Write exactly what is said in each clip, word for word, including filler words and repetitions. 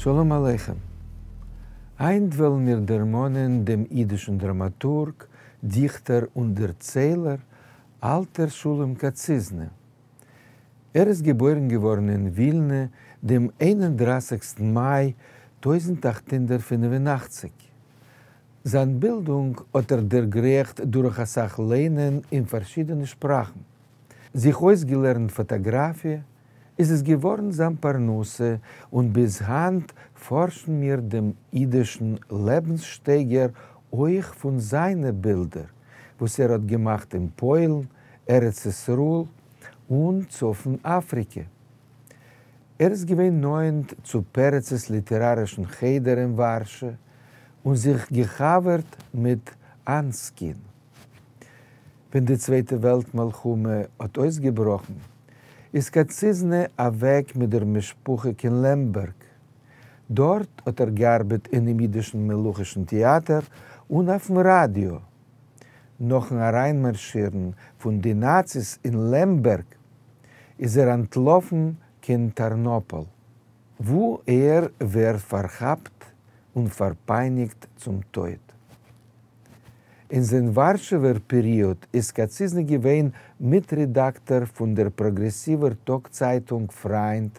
שלום עליכם. הײַנט וועלן מיר דערמאָנען דעם ייִדישן דראַמאַטורג, דיכטער און דערציילער אַלטער שלום קאַציזנע. ער איז געבוירן געוואָרן אין ווילנע דעם איין און דרײַסיקסטן מײַ טויזנט אַכט הונדערט פֿינף און אַכציק. זײַן בילדונג האָט ער דערגרייכט דורך אַ סך לייענען אין פֿאַרשידענע שפּראַכן. זיך אויסגעלערנט פֿאָטאָגראַפֿיע, איז עס געוואָרן זײַן פּרנסה, און ביז הײַנט פֿאָרשן מיר דעם ייִדישן לעבנסשטייגער אויך פֿון זײַנע בילדער, וואָס ער האָט געמאַכט אין פּוילן, ארץ ישראל און צפֿון אַפֿריקע. ער איז געווען נאָענט צו פּרצעס ליטעראַרישן חדר אין וואַרשע און זיך געחבֿרט מיט אַנסקין. ווען די צווייטע וועלט-מלחמה האָט אויסגעבראָכן, איז קאַציזנע אַוועק מיט דער משפּחה קיין לעמבערג. דאָרט האָט ער געאַרבעט אינעם ייִדישן מלוכישן טעאַטער און אויפֿן ראַדיאָ. נאָכן אַרײַנמאַרשירן פֿון די נאַציס אין לעמבערג איז ער אַנטלאָפֿן קיין טאַרנאָפּאָל, וווּ ער ווערט פֿאַרכאַפּט און פֿאַרפּײַניקט צום טויט. אין זײַן וואַרשעווער פּעריאָד איז קאַציזנע געווען מיטרעדאַקטאָר פֿון דער פּראָגרעסיווער טאָגצײַטונג פֿרײַנד,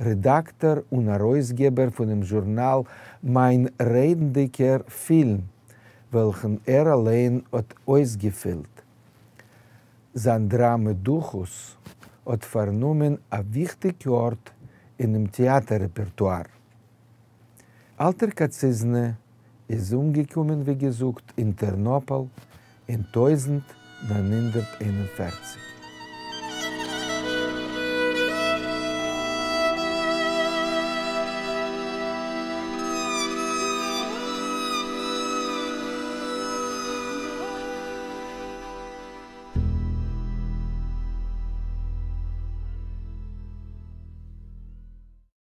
רעדאַקטאָר און אַרויסגעבער פֿונעם זשורנאַל מײַן רעדנדיקער פֿילם, וועלכן ער אַליין האָט אויסגעפֿילט. זײַן דראַמע דוכוס האָט פֿאַרנומען אַ וויכטיק אָרט אינעם טעאַטער-רעפּערטואַר. אַלטער קאַציזנע איז אומגעקומען, ווי געזאָגט, אין טערנאָפּאָל אין טויזנט נײַן הונדערט איין און פֿערציק.